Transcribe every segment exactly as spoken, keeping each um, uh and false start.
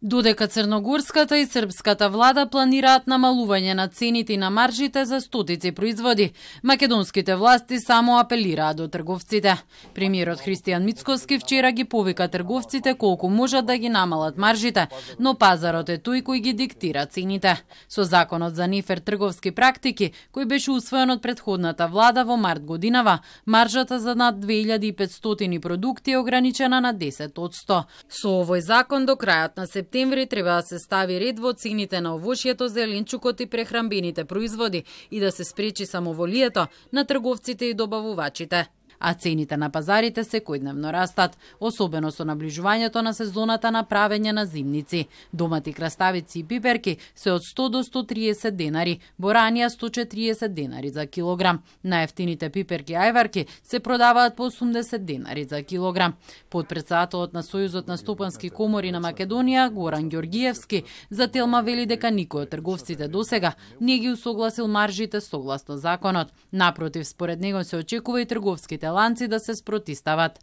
Додека црногорската и српската влада планираат намалување на цените и на маржите за стотици производи, македонските власти само апелираат до трговците. Премиерот Христијан Мицкоски вчера ги повика трговците колку можат да ги намалат маржите, но пазарот е тој кој ги диктира цените. Со законот за нефер трговски практики, кој беше усвоен од претходната влада во март годинава, маржата за над две илјади и петстотини продукти е ограничена на десет одсто. Со овој закон до крајот на септември септември треба да се стави ред во цените на овошјето, зеленчукот и прехранбените производи и да се спречи самоволието на трговците и добавувачите. А цените на пазарите секојдневно растат, особено со наближувањето на сезоната на правење на зимници. Домати краставици и пиперки се од сто до сто триесет денари, боранија сто четириесет денари за килограм. Најефтините пиперки и ајварки се продаваат по осумдесет денари за килограм. Подпредседателот на Сојузот на стопански комори на Македонија, Горан Ѓоргиевски, за Телма вели дека никој од трговците досега не ги усогласил маржите согласно законот. Напротив, според него се очекува и трговските ланци да се спротистават.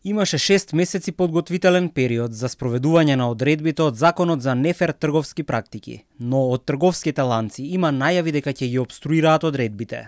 Имаше шест месеци подготвителен период за спроведување на одредбите од законот за нефер трговски практики, но од трговските ланци има најави дека ќе ги обструираат одредбите.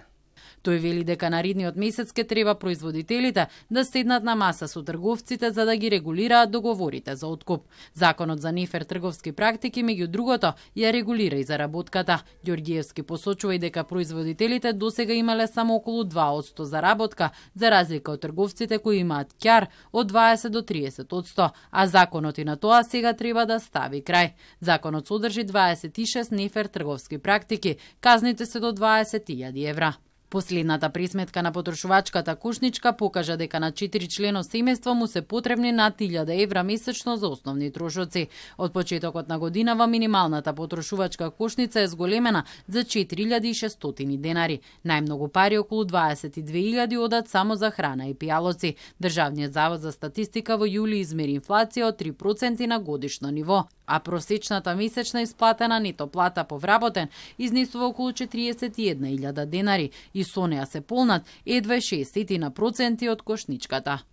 Тој вели дека наредниот месец ке треба производителите да седнат на маса со трговците за да ги регулираат договорите за откуп. Законот за нефер трговски практики, меѓу другото, ја регулира и заработката. Ѓоргиевски посочува и дека производителите досега имале само околу два одсто заработка, за разлика од трговците кои имаат ќар од дваесет до триесет одсто, а законот и на тоа сега треба да стави крај. Законот содржи дваесет и шест нефер трговски практики, казните се до дваесет илјади евра. Последната пресметка на потрошувачката кошничка покажа дека на четири члено семејство му се потребни над илјада евра месечно за основни трошоци. Од почетокот на годинава минималната потрошувачка кошница е зголемена за четири илјади и шестстотини денари. Најмногу пари, околу дваесет и две илјади, одат само за храна и пијалоци. Државниот завод за статистика во јули измери инфлација од три проценти на годишно ниво, а просечната месечна исплатена нето плата по вработен изнесува околу четириесет и една илјада денари и со неа се полнат едва шестдесет проценти од кошничката.